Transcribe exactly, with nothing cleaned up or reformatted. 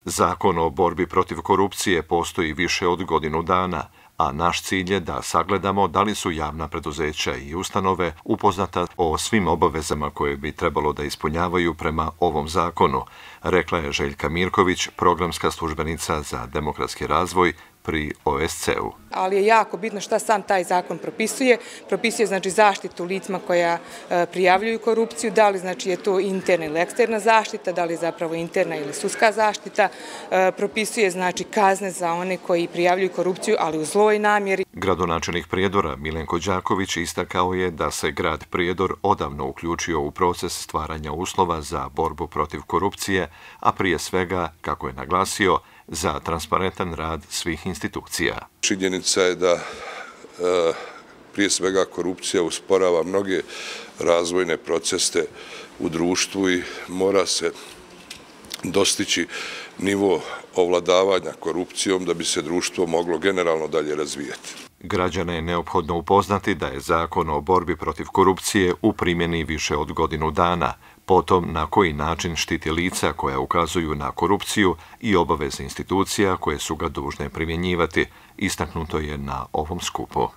Zakon o borbi protiv korupcije postoji više od godinu dana, a naš cilj je da sagledamo da li su javna preduzeća i ustanove upoznata o svim obavezama koje bi trebalo da ispunjavaju prema ovom zakonu, rekla je Željka Mirković, programska službenica za demokratski razvoj pri O S C-u. Ali je jako bitno šta sam taj zakon propisuje. Propisuje znači zaštitu licima koja e, prijavljuju korupciju, da li znači je to interna ili eksterna zaštita, da li je zapravo interna ili sudska zaštita. E, propisuje znači kazne za one koji prijavljuju korupciju, ali u zloj namjeri. Gradonačelnik Prijedora Milenko Đaković istakao je da se grad Prijedor odavno uključio u proces stvaranja uslova za borbu protiv korupcije, a prije svega, kako je naglasio, za transparentan rad svih institucija. Činjenica je da prije svega korupcija usporava mnoge razvojne procese u društvu i mora se dostići nivo ovladavanja korupcijom da bi se društvo moglo generalno dalje razvijati. Građane je neophodno upoznati da je Zakon o borbi protiv korupcije u primjeni više od godinu dana, potom na koji način štiti lica koja ukazuju na korupciju i obaveze institucija koje su ga dužne primjenjivati, istaknuto je na ovom skupu.